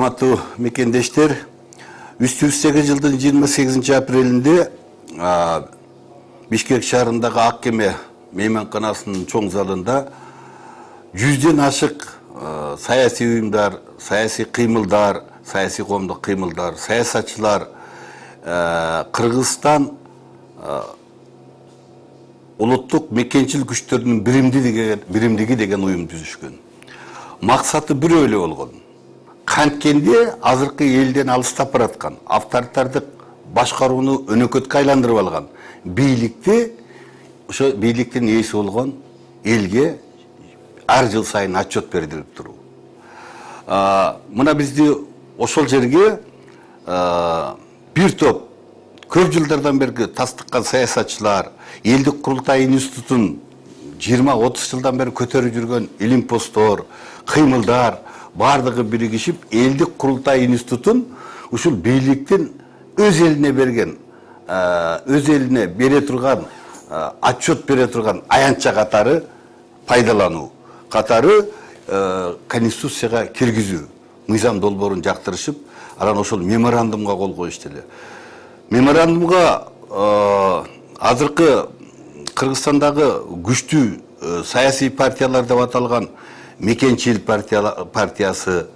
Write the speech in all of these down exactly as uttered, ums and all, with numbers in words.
Урматтуу мекендештер, үч жүз сегиз жылдын жыйырма сегизинчи апрелинде Бишкек шаарындагы Ак кеме мейманканасынын чоң залында жүздөн ашык саясий уюмдар, саясий кыймылдар, саясий коомдук кыймылдар, саясатчылар Кыргызстан улуттук мекенчил күчтөрүнүн биримдиги деген уюм түзүшкөн. Максаты бирөө эле болгон. Канткенде азыркы элден алыстап бараткан, авторитардык башкарууну өнөкөткө айландырып алган бийликти, ошо бийликтин ээси болгон элге ар жыл сайын отчет бердирип туруу. Мына бизди ошол жерге бир топ көп жылдардан бери тастыккан саясатчылар, элдик курултай институтун жыйырма отуз жылдан бери көтөрүп жүргөн илимпоздор, кыймылдар бардыгы биригишип элдик курултай институтун ушул бийликтин өз элине берген, өз элине бере турган, отчет бере турган аянтча катары пайдалануу, катары конституцияга киргизүү, мыйзам долбоорун жактырышып, анан ошол меморандумга кол коюшту эле. Меморандумга азыркы Кыргызстандагы күчтүү саясий партиялар деп аталган Мекенчил партиясы,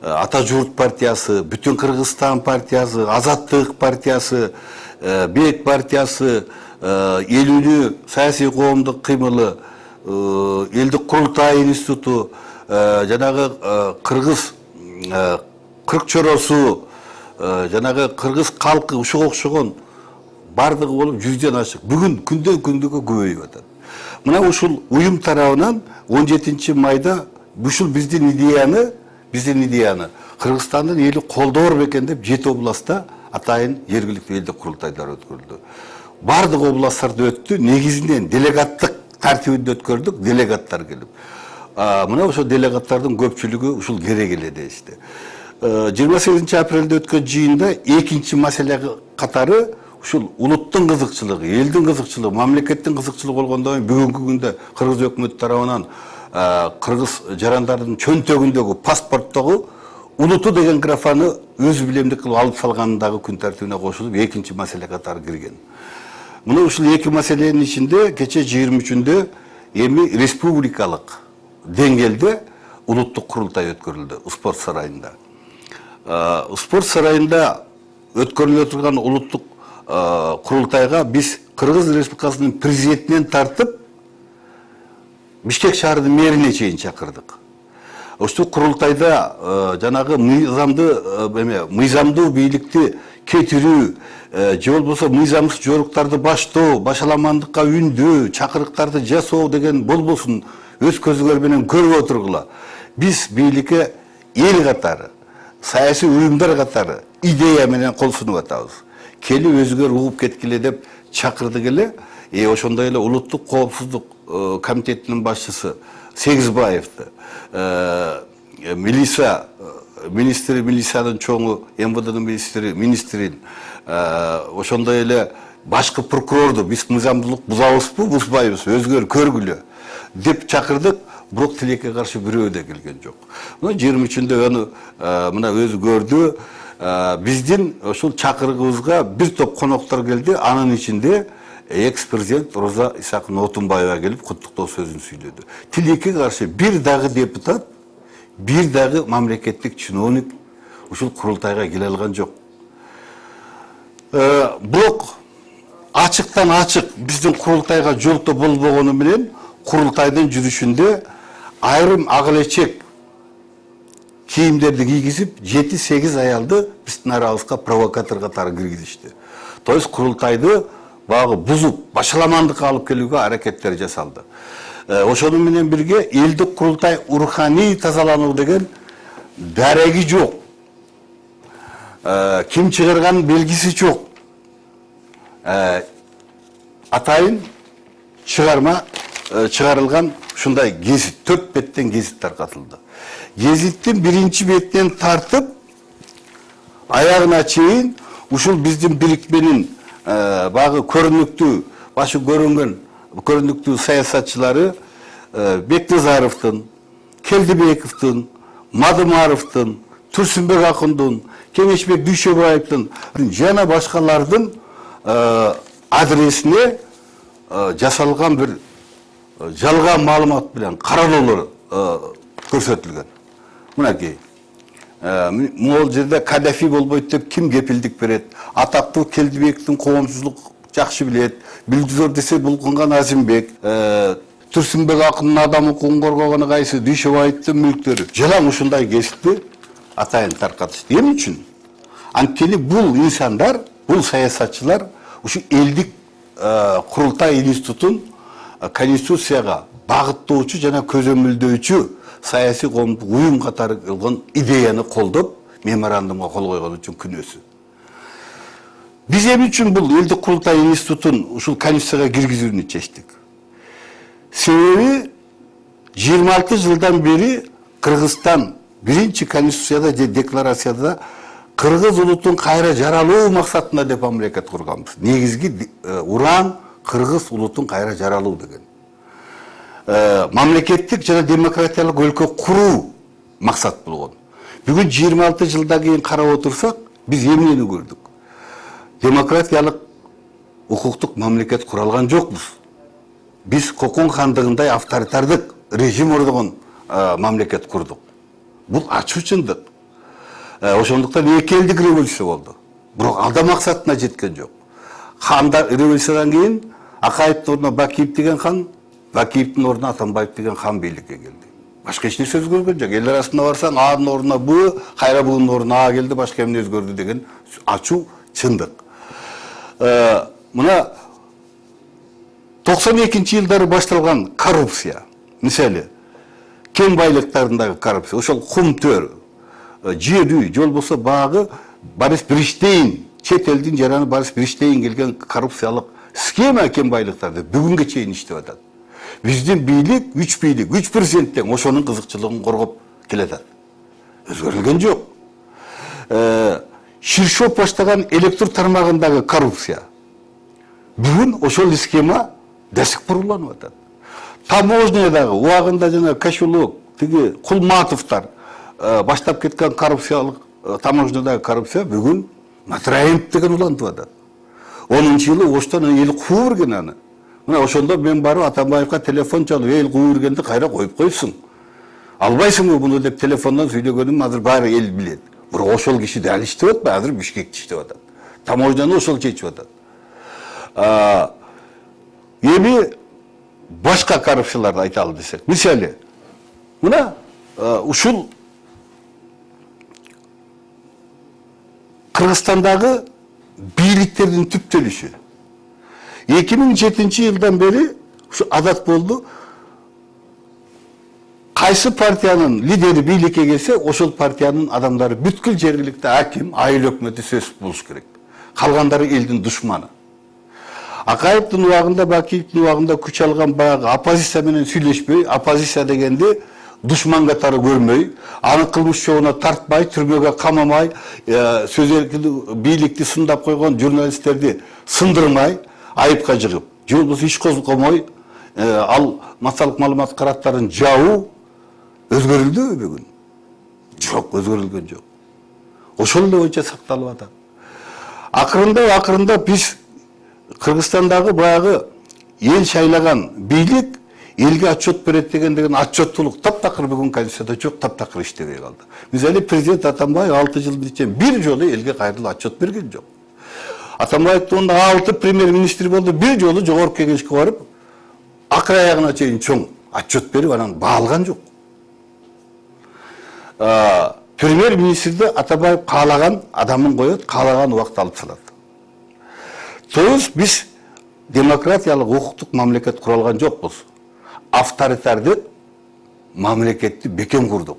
Ата журт партиясы, Бүтүн Кыргызстан партиясы, Азаттык партиясы, Бек партиясы, элүүнү саясий коомдук кыймылы, элдик курултай институту, жанагы Кыргыз кырк чоросу, жанагы кыргыз калкы ушуга окшогон бардыгы болуп жүздөн ашык. Бүгүн күндөн күнгө көбөйүп атат. Мына ушул уюм тарабынан он жетинчи майда ушул биздин идеяны, биздин идеяны Кыргызстандын эли колдоор бекен деп жети областта атайын жергиликтүү элдик курултайлар өткөрүлдү. Бардык областтарда өттү, негизинен делегаттык тартибинде өткөрдүк, делегаттар келип. Мына ошол делегаттардын көпчүлүгү ушул керек эле дешти. жыйырма сегизинчи апрелде өткөн жыйында экинчи маселе катары ушул улуттун кызыкчылыгы, элдин кызыкчылыгы, мамлекеттин кызыкчылыгы болгондон кийин бүгүнкү күндө Кыргыз өкмөтү тарабынан кыргыз жарандардын чөнтөгүндөгү паспорттогу улуту деген графаны өз билемдик кылып алып салгандагы күн тартибине кошулуп экинчи маселе катары кирген. Мына ушул эки маселенин ичинде кече жыйырма үчүндө эми республикалык деңгээлде улуттук курултай өткөрүлдү спорт сарайында. Спорт сарайында өткөрүлө турган улуттук курултайга биз Кыргыз Республикасынын президентинен тартып Бишкек шаарынын мэрине чейин чакырдык. Ушул курултайда жанагы мыйзамды, мыйзамдуу бийликти кетирүү, же болбосо мыйзамсыз жоруктарды баштоо, башаламандыкка үндөө, чакырыктарды жасоо деген болбосун өз көзүңөр менен көрүп отургула. Биз бийликке эл катары, саясий уюмдар катары идея менен кол сунуп атабыз. Келип өзүңөр угуп кеткиле деп чакырдык эле. Э ошондой эле улуттук коопсуздук комитетинин башчысы Сегизбаевди, милиция министри, милициянын чоңу, эм вэ дэнын министри, министрин, ошондой эле башкы прокурорду биз мыйзамдуулук бузабызбы, бузбайбыз, өзүңөр көргүлө деп чакырдык. Бирок тилекке каршы бирөө да келген жок. Мына жыйырма үчүндө аны мына өзү көрдү. Биздин ошол чакырыгыбызга бир топ коноктор келди. Анын ичинде экс-президент Роза Исаковна Отунбаева келип куттуктоо сөзүн сүйлөдү. Тилекке каршы бир дагы депутат, бир дагы мамлекеттик чиновник ушул курултайга келе алган жок. Бирок ачыктан ачык биздин курултайга жолтоо болбогону менен курултайдын жүрүшүндө айрым ак элечек кийимдерди кийгизип жети сегиз аялды биздин арабызга провокатор катары киргизишти. То есть курултайды багы бузуп, башаламандыкка алып келүүгө аракеттер жасалды. Ошону менен бирге элдик курултай руханий тазалануу деген дареги жок. Ким чыгарган белгиси жок. Атайын чыгарма чыгарылган ушундай гезит, төрт беттен гезит таркатылды. Гезиттин биринчи бетинен тартып аягына чейин ушул биздин бирикменин багы көрүнүктүү, башы көрүнгөн көрүнүктүү саясатчылары Бекназаровдун, Келдибековдун, Мадымаровдун, Турсунбек Акындын, Кеңешбек Дүйшөбаевдин жана башкалардын адресине жасалган бир жалган маалымат менен каралоолор көрсөтүлгөн. Мынакей. Могул жерде Каддафи болбойт деп ким кепилдик берет? Атактуу Келдибековдун коомчулук жакшы билет. Билдизор десе Булкунган Азимбек, Турсунбек Акындын адам укугун коргогону кайсы? Дүйшөбаевдин мүлктөрү. Жалаң ушундай кесипти атайын таркатышты. Эмне үчүн? Анткени бул инсандар, бул саясатчылар ушу элдик курултай институтун конституцияга багыттоочу жана көзөмөлдөөчү саясий коомдук уюм катары кылган идеяны колдоп, меморандумга кол койгон үчүн күнөөсү. Биз эмне үчүн бул элдик курултай институтун ушул конституцияга киргизүүнү чечтик? Себеби жыйырма алты жылдан бери Кыргызстан биринчи конституцияда же декларацияда кыргыз улутун кайра жаралуу максатында деп мамлекет курганбыз. Негизги уран кыргыз улутун кайра жаралуу деген. Мамлекеттик жана демократиялык өлкө куруу максат болгон. Бүгүн жыйырма алты жылдан кийин карап отурсак, биз эмнени көрдүк? Демократиялык укуктук мамлекет куралган жокпуз. Биз Кокон хандыгындай авторитардык режим ордогон мамлекет курдук. Бул ачуу чындык. Ошондуктан эки элдик революция болду. Бирок алда максатына жеткен жок. Ханда революциядан кийин Акаевдин ордуна Бакиев деген хан, Бакиевдин ордуна Атамбаев деген хан бийликке келди. Башка эч нерсе өзгөргөн жок. Эл арасында барсаң, A'нын ордуна Б, Кайрабулдун ордуна А келди, башка эмне өзгөрдү деген ачуу чындык. Мына токсон экинчи жылдары башталган коррупция, мисалы, кен байлыктарындагы коррупция, ошол кумтөр, жер үй, жол болсо багы Борис Бриштейн, чет элдин жараны Борис Бриштейн келген коррупциялык схема кен байлыктарды бүгүнгө чейин иштеп атат. Биздин бийлик, үч бийлик, үч президенттен ошонун кызыкчылыгын коргоп келатат. Өзгөрүлгөн жок. Ширшов баштаган электр тармагындагы коррупция бүгүн ошол схема до сих пор уланып атат. Таможнядагы убагында жана Кашулук, тиги Кулматовдор баштап кеткен коррупциялык таможнядагы коррупция бүгүн Матраимов деген улантып атат. онунчу жылы Оштон эл куу берген аны. Мына ошондо мен барып Атамбаевга телефон чалып, эл куу бергенди кайра коюп койсуң. Албайсыңбы муну деп телефондон сүйлөгөнүм азыр баары эл билет. Бирок ошол киши дал иштеп атпайбы? Азыр Бишкекте иштеп атат. Таможняны ошол чечип атат. Эми башка коррупцияларды айталы десек. Мисалы, мына ушул Кыргызстандагы бийликтердин түптөлүшү. эки миң жетинчи жылдан бери ушу адат болду. Кайсы партиянын лидери бийликке келсе, ошол партиянын адамдары бүткүл жергиликтүү аким, айыл өкмөтү сөз болуш керек. Калгандары элдин душманы. Акаевдин убагында, Бакиевдин убагында күч алган баягы оппозиция менен сүйлөшпөй, оппозиция дегенди душман катары көрмөй, аны кылмыш жолуна тартпай, түрмөгө камамай, сөз эркиндиги бийликти сындап койгон журналисттерди сындырмай, айыпка жыгып, же болбосо иш козгомой, ал массалык маалымат караттарын жабуу өзгөрүлдүбү бүгүн? Жок, өзгөрүлгөн жок. Ошол эле боюнча сакталып атат. Акырында акырында биз Кыргызстандагы баягы эл шайлаган бийлик элге отчет берет деген деген отчеттуулук таптакыр бүгүн конституцияда жок, таптакыр иштебей калды. Мисалы президент Атамбаев алты жылдын ичинде бир жолу элге кайрылып отчет берген жок. Атамбаевдин алты премьер-министр болду, бир жолу жогорку кеңешке барып, акыр аягына чейин чоң отчет берип, анан баалган жок. Премьер-министрди Атамбаев каалаган адамын коет, каалаган убакта алып салат. Тоюз биз демократиялык укуктук мамлекет куралган жокпуз. Авторитардык мамлекетти бекем курдук.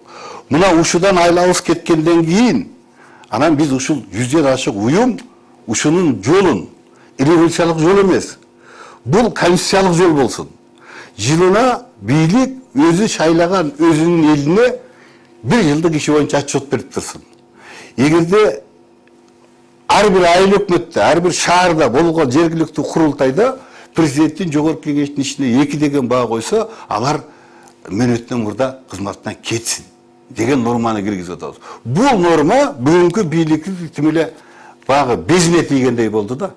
Мына ушудан айлабыз кеткенден кийин, анан биз ушул жүздөн ашык уюм ушунун жолун, революциялык жол эмес, бул конституциялык жол болсун. Жылына бийлик өзү шайлаган өзүнүн элине бир жылдык иши боюнча отчет берип турсун. Эгерде ар бир айыл өкмөттө, ар бир шаарда болгон жергиликтүү курултайда президенттин жогорку кеңештин ишине эки деген баа койсо, алар мөөнөттөн мурда кызматтан кетсин. деген норманы киргизип атабыз. Бул норма бүгүнкү бийликти тим эле баягы безине тийгендей болду да.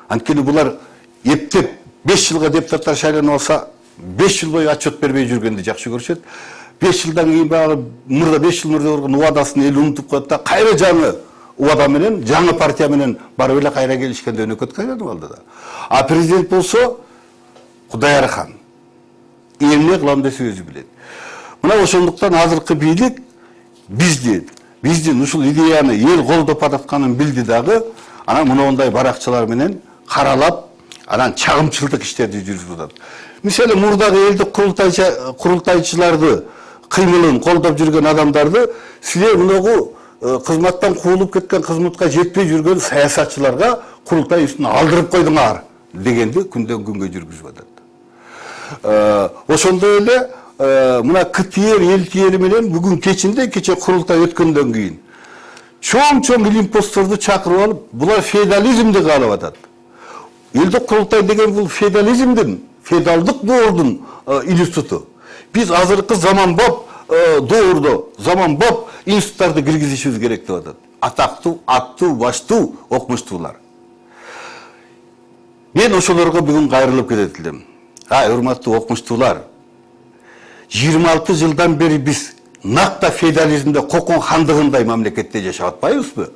Анткени булар эптеп беш жылга депутаттар шайланып алса, беш жыл бою отчет бербей жүргөндү жакшы көрүшөт. беш жылдан кийин баягы мурда беш жыл мурда болгон убадасын эл унутуп коет да, кайра жаңы убада менен, жаңы партия менен барып эле кайра келишкенде өнөкөт кайланып алды да. А президент болсо Кудайархан эмне кылам десе өзү билет. Мына ошондуктан азыркы бийлик бизди, биздин ушул идеяны эл колдоп ататканын билди дагы, анан мындай баракчалар менен каралап, анан чагымчылдык иштерди жүргүзүп атат. Мисалы мурдагы элдик курултайчыларды кыймылын колдоп жүргөн адамдарды силер мынагу кызматтан куулуп кеткен, кызматка жетпей жүргөн саясатчыларга курултай үстүнө алдырып койдуңар дегенди күндөн күнгө жүргүзүп атат. Ошондой эле мына КТР элтиери менен бүгүн кечинде, кече курултай өткөндөн кийин чоң-чоң илимпостторду чакырып алып, булар феодализмди каалап атат. Элдик курултай деген бул феодализмдин, феодалдык доордун институту. Биз азыркы заманбап доордо, заманбап институттарды киргизишибиз керек деп атат. Атактуу, аттуу, баштуу, окумуштуулар. Мен ошолорго бүгүн кайрылып кетет элем. Ай, урматтуу окумуштуулар, жыйырма алты жылдан бери биз накта феодализмде, Кокон хандыгындай мамлекетте жашап атпайбызбы?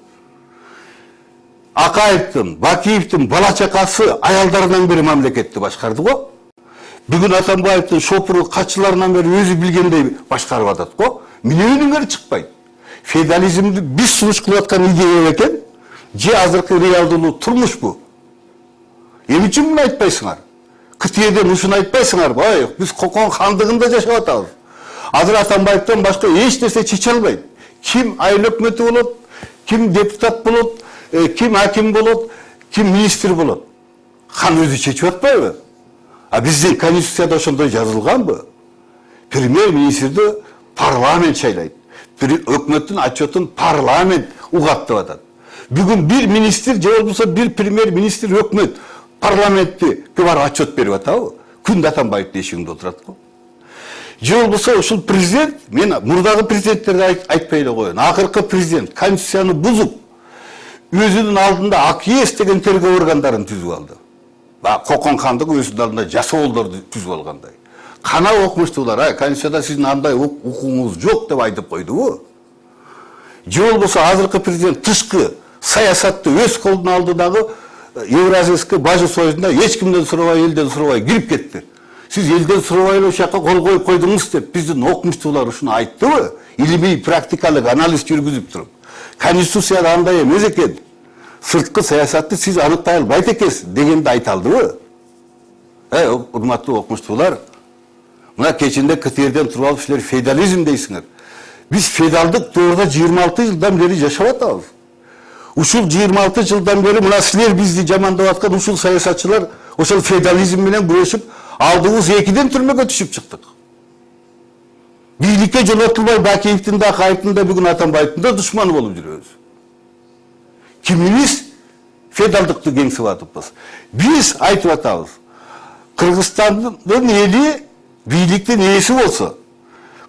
Акаевдин, Бакиевдин бала чакасы аялдарынан бери мамлекетти башкарды го. Бүгүн Атамбаевдин шопуру качыларынан бери өзү билгендей башкарып атат го. Мынөнүңөр чыкпайт. Феодализмди биз сунуш кылып аткан идея экен, же азыркы реалдуу турмушпу? Эмне үчүн муну айтпайсыңар? КТРден ушуну айтпайсыңарбы? Ай, биз Кокон хандыгында жашап атабыз. Азыр Атамбаевден башка эч нерсе чече албайт. Ким айыл өкмөтү болот, ким депутат болот, ким аким болот, ким министр болот. Хан өзү чечип атпайбы? А биздин конституцияда ошондой жазылганбы? Премьер-министрди парламент шайлайт. Өкмөттүн отчетун парламент угат деп атат. Бүгүн бир министр же болбосо бир премьер-министр өкмөт парламентти барып отчет берип атабы? Күндө Атамбаевдин эшигинде отурат го. Же болбосо ушул президент, мен мурдагы президенттерди айтпай эле коеюн. Акыркы президент конституцияны бузуп, өзүнүн алдында АКС деген тергөө органдарын түзүп алды. Кокон хандык өзүнүн алдында жасоолдорду түзүп алгандай. Кана окумуштуулар, ай, конституцияда сиздин андай укугуңуз жок деп айтып койдубу? Же болбосо азыркы президент тышкы саясатты өз колуна алды дагы Евразийский бажы союзунда эч кимден сурабай, элден сурабай кирип кетти. Сиз элден сурабай эле ошол жака кол коюп койдуңуз деп биздин окумуштуулар ушуну айттыбы? Илимий практикалык анализ жүргүзүп туруп. Конституцияда андай эмес экен. Сырткы саясатты сиз аныктай албайт экенсиз дегенди айта алдыбы? Эй, урматтуу окумуштуулар, мына кечинде КТРден туруп алып силер феодализм дейсиңер. Биз феодалдык доордо жыйырма алты жылдан бери жашап атабыз. Ушул жыйырма алты жылдан бери мына силер бизди жамандап аткан ушул саясатчылар ошол феодализм менен күрөшүп, алдыбыз экиден түрмөгө түшүп чыктык. Бийликке жолотулбай Бакиевдин да, Акаевдин да, бүгүн Атамбаевдин да душманы болуп жүрөбүз. Кимибиз феодалдыкты кеңсип атыппыз. Биз айтып атабыз. Кыргызстандын эли бийликтин ээси болсо,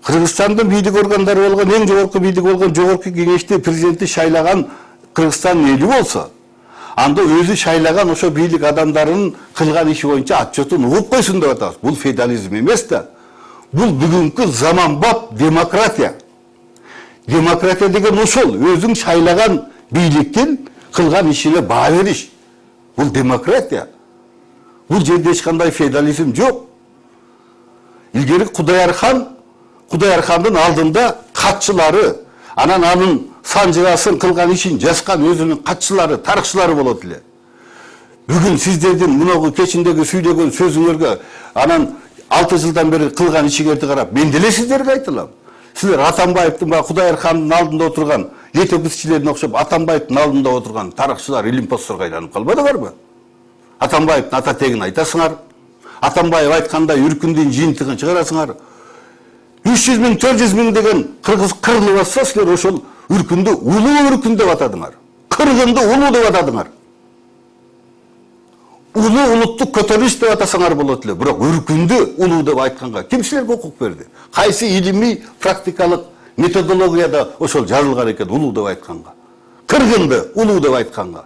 Кыргызстандын бийлик органдары болгон, эң жогорку бийлик болгон жогорку кеңешти президенти шайлаган Кыргызстандын эли болсо, анда өзү шайлаган ошо бийлик адамдарынын кылган иши боюнча отчетун угуп койсун деп атабыз. Бул феодализм эмес да. Бул бүгүнкү заманбап демократия. Демократия деген ошол, өзүң шайлаган бийликтин кылган ишине баа бериш. Бул демократия. Бул жерде эч кандай феодализм жок. Илгери Кудайархан, Кудайархандын алдында катчылары, анан анын санжырасын кылган ишин жазган өзүнүн катчылары, тарыхчылары болот эле. Бүгүн сиздердин мунагу кечиндеги сүйлөгөн сөзүңөргө, анан алты жылдан бери кылган ишиңерди карап, мен деле сиздерге айтылам. Силер Атамбаевдин ба Кудайархандын алдында отурган летописчилерине окшоп Атамбаевдин алдында отурган тарыхчылар, илимпостторго айланып калбадыңарбы? Атамбаевдин ата тегин айтасыңар. Атамбаев айткандай үркүндүн жыйынтыгын чыгарасыңар. үч жүз миң, төрт жүз миң деген кыргыз кырылып атса, силер ошол үркүндү улуу үркүн деп атадыңар. Кыргынды улуу деп атадыңар. Улуу улуттук көтөрүлүш деп атасаңар болот эле. Бирок үркүндү улуу деп айтканга ким силерге укук берди? Кайсы илимий практикалык методологияда ошол жазылган экен, улуу деп айтканга. Кыргынды улуу деп айтканга.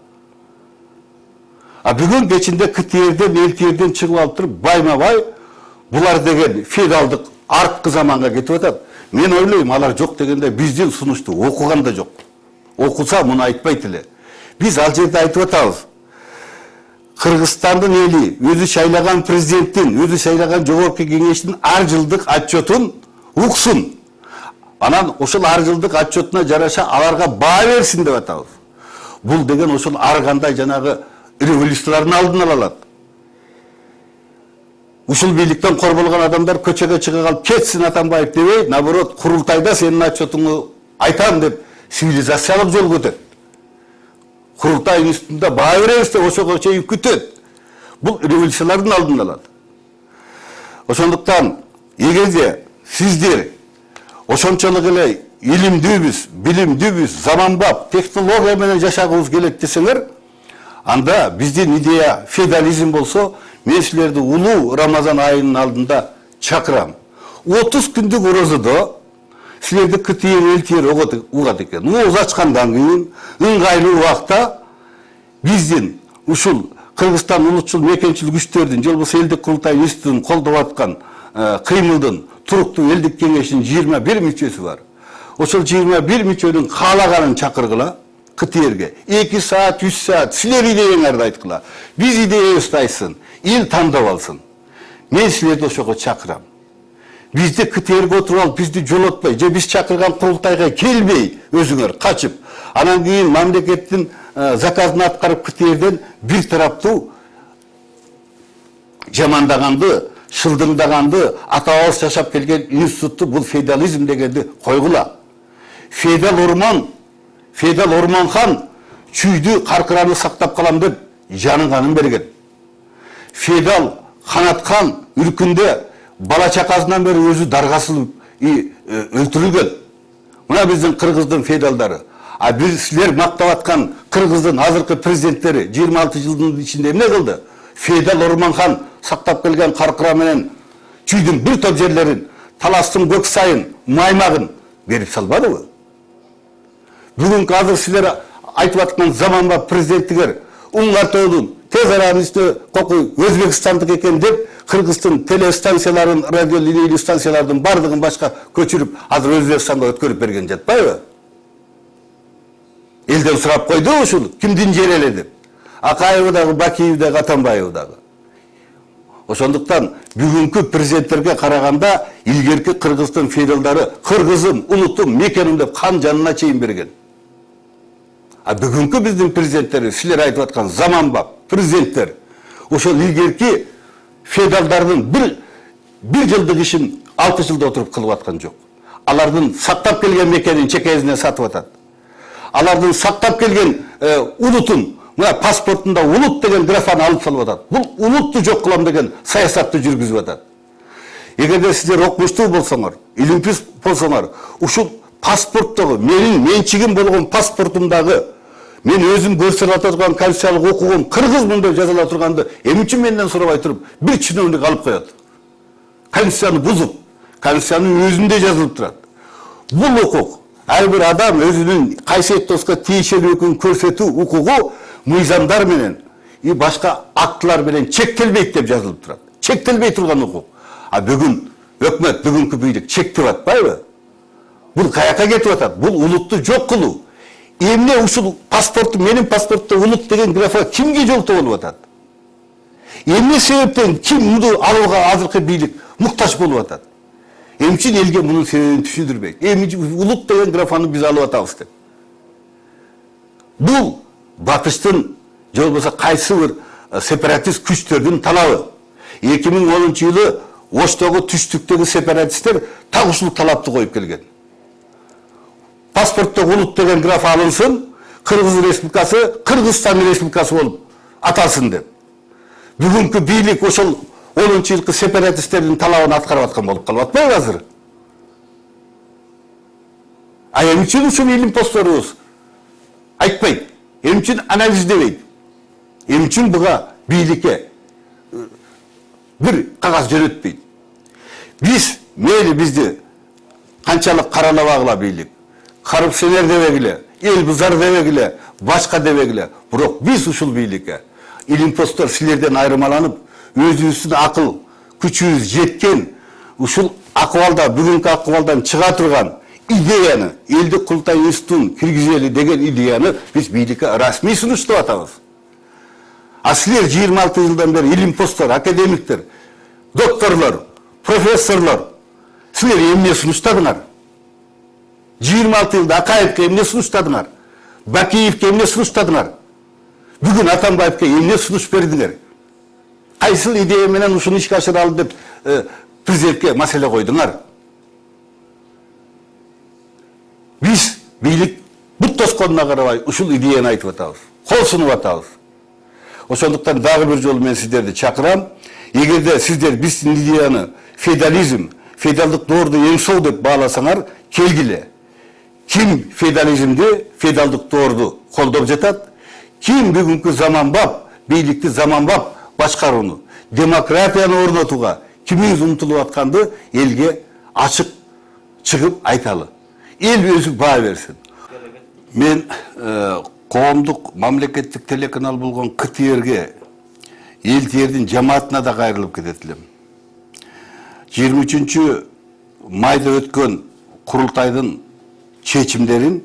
А бүгүн кечинде КТРден, ЛТРден чыгып алып туруп, байма-бай булар деген феодалдык арткы заманга кетип атат. Мен ойлойм, алар жок дегенде биздин сунушту окуган да жок. Окуса муну айтпайт эле. Биз ал жерде айтып атабыз. Кыргызстандын эли өзү шайлаган президенттин, өзү шайлаган жогорку кеңештин ар жылдык отчетун уксун. Анан ошол ар жылдык отчетуна жараша аларга баа берсин деп атабыз. Бул деген ошол ар кандай жанагы революциялардын алдын ала алат. Ушул бийликтен корболгон адамдар көчөгө чыга калып кетсин Атамбаев дебей, наоборот, курултайда сенин отчетуңду айтам деп цивилизациялык жол көтөт. Курултай институтунда баа беребиз деп ошого чейин күтөт. Бул революциялардын алдын алат. Ошондуктан эгерде сиздер ошончолук эле илимдүүбүз, билимдүүбүз, заманбап технология менен жашагыбыз келет десеңер, анда биздин идея феодализм болсо, мен силерди улуу Рамазан айынын алдында чакырам. отуз күндүк орозодо силерди КТР, ЛТР угат экен. Ооз ачкандан кийин ыңгайлуу убакта биздин ушул Кыргызстан улутчул мекенчил күчтөрдүн, же болбосо элдик курултай институтун колдоп аткан кыймылдын туруктуу элдик кеңешинин жыйырма бир мүчөсү бар. Ошол жыйырма бир мүчөнүн каалаганын чакыргыла КТРге. эки саат, үч саат силер идеяңарды айткыла. Биз идеябызды айтсын, эл тандап алсын. Мен силерди ошого чакырам. Бизди КТРге отуруп алып, бизди жолотпой, же биз чакырган курултайга келбей өзүңөр качып, анан кийин мамлекеттин заказын аткарып КТРден бир тараптуу жамандаганды, шылдыңдаганды, ата-бабабыз жашап келген институтту, бул феодализм дегенди койгула. Феодал Орман, феодал Орманхан чүйдү, каркыраны сактап калам деп жанын канын берген. Феодал Канатхан үркүндө бала чакасынан бери өзү даргасылып өлтүрүлгөн. Мына биздин кыргыздын феодалдары. А биз силер мактап аткан кыргыздын азыркы президенттери жыйырма алты жылдын ичинде эмне кылды? Феодал Орманхан сактап келген каркыра менен чүйдүн бир топ жерлерин, Таластын көк сайын, Маймагын берип салбадыбы? Бүгүнкү азыр силер айтып аткан заманбап президенттигер Уңгартоодун тез аранын үстүнө кокуй Өзбекстандык экен деп Кыргыздын телестанцияларын, радио линейлүү станциялардын бардыгын башка көчүрүп, азыр Өзбекстанга өткөрүп берген жатпайбы? Элден сурап койду ушул, кимдин жери эле деп. Акаев дагы, Бакиев дагы, Атамбаев дагы. Ошондуктан бүгүнкү президенттерге караганда илгерки Кыргыздын феодалдары кыргызым, улутум, мекеним деп кан жанына чейин берген. А бүгүнкү биздин президенттер, силер айтып аткан заманбап президенттер, ошол илгерки феодалдардын бир бир жылдык ишин алты жылда отуруп кылып аткан жок. Алардын сактап келген мекенин чекесине сатып атат. Алардын сактап келген улутун, мына паспортунда улут деген графаны алып салып атат. Бул улутту жок кылам деген саясатты жүргүзүп атат. Эгерде сиздер окумуштуу болсоңор, илимпиз болсоңор, ушул паспорттогу менин менчигим болгон паспортумдагы мен өзүм көрсөтө турган конституциялык окугум кыргызмын деп жазыла турганды эмне үчүн менден сурабай туруп бир чиновник алып коет? Конституцияны бузуп, конституциянын өзүндө жазылып турат. Бул укук ар бир адам өзүнүн кайсыеттоско тийишелүү экенин көрсөтүү укугу мыйзамдар менен и башка актылар менен чектелбейт деп жазылып турат. Чектелбей турган укук. А бүгүн өкмөт, бүгүнкү бийлик чектеп атпайбы? Бул каяка кетип атат? Бул улутту жок кылуу. Эмне ушул паспортту, менин паспортто улут деген графа кимге жолтоо болуп атат? Эмне себептен ким муну алууга азыркы бийлик муктаж болуп атат? Эмне үчүн элге мунун себебин түшүндүрбөйт? Эмне улут деген графаны биз алып атабыз деп. Бул батыштын же болбосо кайсы бир сепаратист күчтөрдүн талабы. эки миң онунчу жылы Оштогу түштүктөгү сепаратисттер так ушул талапты коюп келген. Паспортто улут деген граф алынсын, Кыргыз Республикасы Кыргызстан Республикасы болуп аталсын деп. Бүгүнкү бийлик ошол онунчу жылкы сепаратисттердин талабын аткарып аткан болуп калып атпайбы азыр? А эмне үчүн ушул илим постторубуз айтпайт? Эмне үчүн анализдебейт? Эмне үчүн буга бийликке бир кагаз жөнөтпөйт? Биз мейли бизди канчалык каралабагыла бийлик, коррупционер дебегиле, эл бузар дебегиле, башка дебегиле, бирок биз ушул бийликке илимпостор силерден айырмаланып, өзүбүздүн акыл күчүбүз жеткен ушул акыбалда, бүгүнкү акыбалдан чыга турган идеяны, элдик курултай институтун киргизели деген идеяны биз бийликке расмий сунуштап атабыз. А силер жыйырма алты жылдан бери илимпостор, академиктер, докторлор, профессорлор, силер эмне сунуштадыңар? жыйырма алты жылда Акаевке эмне сунуштадыңар? Бакиевке эмне сунуштадыңар? Бүгүн Атамбаевке эмне сунуш бердиңер? Кайсыл идея менен ушуну ишке ашыралы деп президентке маселе койдуңар? Биз бийлик бут тосконуна карабай ушул идеяны айтып атабыз, кол сунуп атабыз. Ошондуктан дагы бир жолу мен сиздерди чакырам. Эгерде сиздер биздин идеяны феодализм, феодалдык доорду эң сол деп бааласаңар, келгиле. Ким феодализмди, феодалдык доорду колдоп жатат? Ким бүгүнкү заманбап, бийликти заманбап башкарууну, демократияны орнотууга кимиңиз умтулуп атканды элге ачык чыгып айталы. Эл өзү баа берсин. Мен коомдук мамлекеттик телеканал болгон К Т Р'ге, эл тердин жамаатына да кайрылып кетет элем. жыйырма үчүнчү майда өткөн курултайдын чечимдерин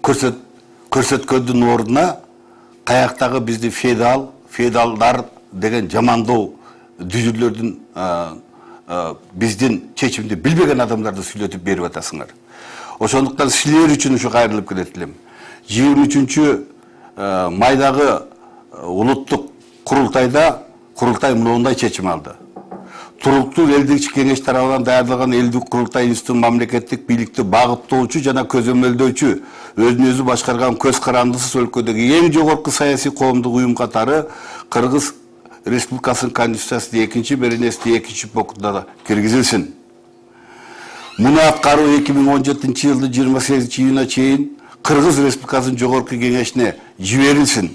көрсөт көрсөткөндүн ордуна каяктагы бизди феодал, феодалдар деген жамандоо дүзүлөрдүн биздин чечимди билбеген адамдарды сүйлөтүп берип атасыңар. Ошондуктан силер үчүн ушу кайрылып кетет элем. жыйырма үчүнчү майдагы улуттук курултайда курултай мындай чечим алды. Туруктуу элдик кеңеш тарабынан даярдалган элдик курултай институтунун мамлекеттик бийликти багыттоочу жана көзөмөлдөөчү, өзүн өзү башкарган көз карандысыз өлкөдөгү эң жогорку саясий коомдук уюм катары Кыргыз Республикасынын Конституциясынын экинчи беренесинин экинчи пунктуна киргизилсин. Муну аткаруу эки миң он жетинчи жылдын жыйырма сегизинчи июнуна чейин Кыргыз Республикасынын жогорку кеңешине жиберилсин.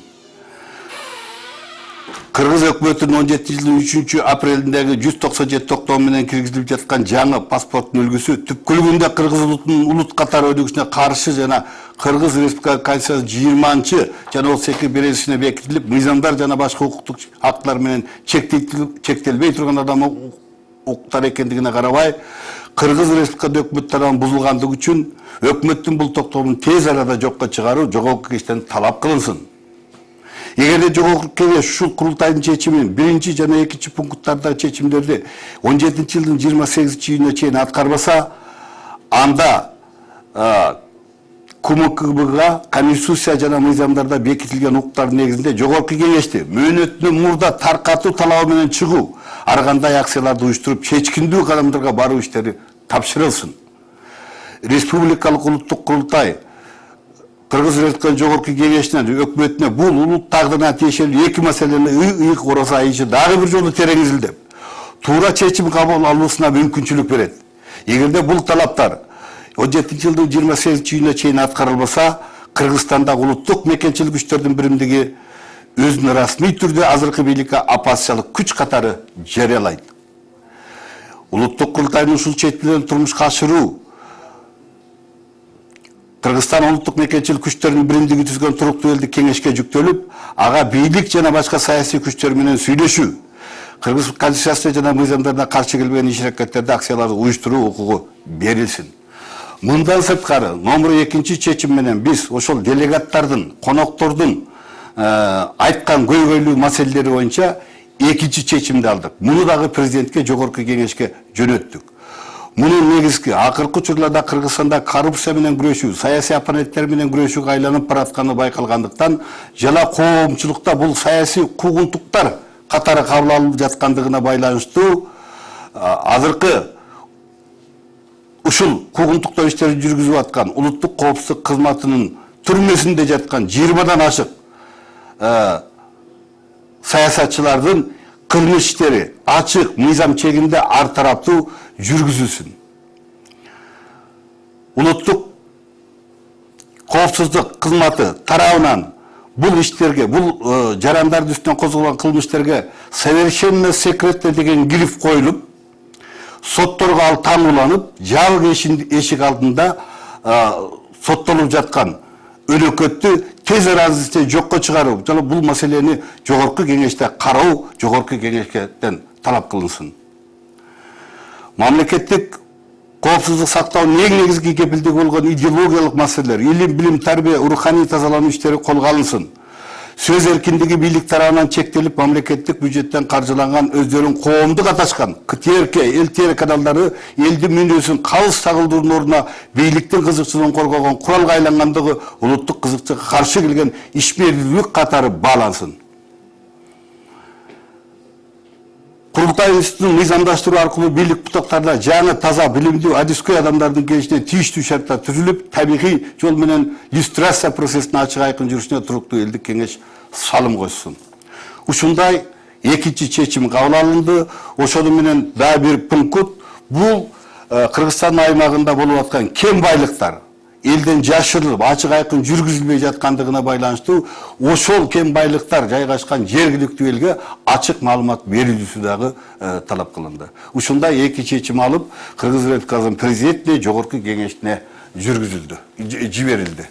Кыргыз өкмөтүнүн он жетинчи жылдын үчүнчү апрелиндеги жүз токсон жети токтоо менен киргизилип жаткан жаңы паспорттун үлгүсү түпкүлүгүндө Кыргыз улутунун улут катары өнүгүшүнө каршы жана Кыргыз Республикасы Конституциясынын жыйырманчы жана отуз эки беренесине бекитилип, мыйзамдар жана башка укуктук актылар менен чектелбей турган адам укуктар экендигине карабай, Кыргыз Республикасы өкмөт тарабынан бузулгандыгы үчүн өкмөттүн бул токтомун тез арада жокко чыгаруу жогорку кеңештен талап кылынсын. Эгерде жогорку кеңеш ушул курултайдын чечимин биринчи жана экинчи пункттардагы чечимдерди он жетинчи жылдын жыйырма сегизинчи июнуна чейин аткарбаса, анда КМКБга Конституция жана мыйзамдарда бекитилген укуктардын негизинде жогорку кеңешти мөөнөтүнөн мурда таркатуу талабы менен чыгуу, ар кандай акцияларды уюштуруп чечкиндүү кадамдарга баруу иштери тапшырылсын. Республикалык улуттук курултай Кыргыз Республикасынын жогорку кеңешинен өкмөтүнө бул улут тагдырына тиешелүү эки маселени ыйык ороса айышы дагы бир жолу тереңизилдеп, туура чечим кабыл алуусуна мүмкүнчүлүк берет. Эгерде бул талаптар он жетинчи жылдын жыйырма сегизинчи июнуна чейин аткарылбаса, Кыргызстандагы улуттук мекенчилик күчтөрдүн биримдиги өзүн расмий түрдө азыркы бийликке оппозициялык күч катары жарыялайт. Улуттук курултайдын ушул чечимдерин турмушка ашыруу Кыргызстан улуттук мекенчилик күчтөрүнүн биримдиги түзгөн туруктуу элдик кеңешке жүктөлүп, ага бийлик жана башка саясий күчтөр менен сүйлөшүү, Кыргыз Конституциясына жана мыйзамдарына каршы келбеген иш-аракеттерди, акцияларды уюштуруу укугу берилсин. Мындан сырткары, номер экинчи чечим менен биз ошол делегаттардын, коноктордун айткан көйгөйлүү маселелери боюнча экинчи чечимди алдык. Муну дагы президентке, жогорку кеңешке жөнөттүк. Мунун негизги акыркы учурларда Кыргызстанда коррупция менен күрөшүү, саясий оппоненттер менен күрөшүүгө айланып баратканы байкалгандыктан, жана коомчулукта бул саясий куугунтуктар катары кабыл алынып жаткандыгына байланыштуу азыркы ушул куугунтуктоо иштерин жүргүзүп аткан улуттук коопсуздук кызматынын түрмөсүндө жаткан жыйырмадан ашык саясатчылардын кылмыш иштери ачык мыйзам чегинде ар тараптуу жүргүзүлсүн. Улуттук коопсуздук кызматы тарабынан бул иштерге, бул жарандардын үстүнөн козголгон кылмыштарга совершенно секретно деген гриф коюлуп, сотторго ал таңууланып, жабык эшик алдында соттолуп жаткан өнөкөттү тез арада жокко чыгаруу жана бул маселени жогорку кеңеште кароо жогорку кеңештен талап кылынсын. Мамлекеттик коопсуздук сактоо негизги кепилдиги болгон идеологиялык маселелер, илим, билим, тарбия, руханий тазалануу иштери колго алынсын. Сөз эркиндиги бийлик тарабынан чектелип, мамлекеттик бюджеттен каржыланган өздөрүн коомдук аташкан КТРК, эл каналдары элдин мүнөзүн калыс чагылдыруунун ордуна бийликтин кызыкчылыгын коргогон куралга айлангандыгы улуттук кызыкчылыкка каршы келген ишмердүүлүк катары баалансын. Курултай институтун мыйзамдаштыруу аркылуу бийлик бутактарына жаңы таза билимдүү адискөй адамдардын келишине тийиштүү шарттар түзүлүп, табигый жол менен иллюстрация процессине ачык айкын жүрүшүнө туруктуу элдик кеңеш салым койсун. Ушундай экинчи чечим кабыл алынды. Ошону менен дагы бир пункт бул Кыргызстан аймагында болуп аткан кем байлыктар элден жашырылып, ачык айкын жүргүзүлбөй жаткандыгына байланыштуу ошол кем байлыктар жайгашкан жергиликтүү элге ачык маалымат берилүүсү дагы талап кылынды. Ушундай эки чечим алып, Кыргыз Республикасынын президентине, жогорку кеңешине жүргүзүлдү, жиберилди.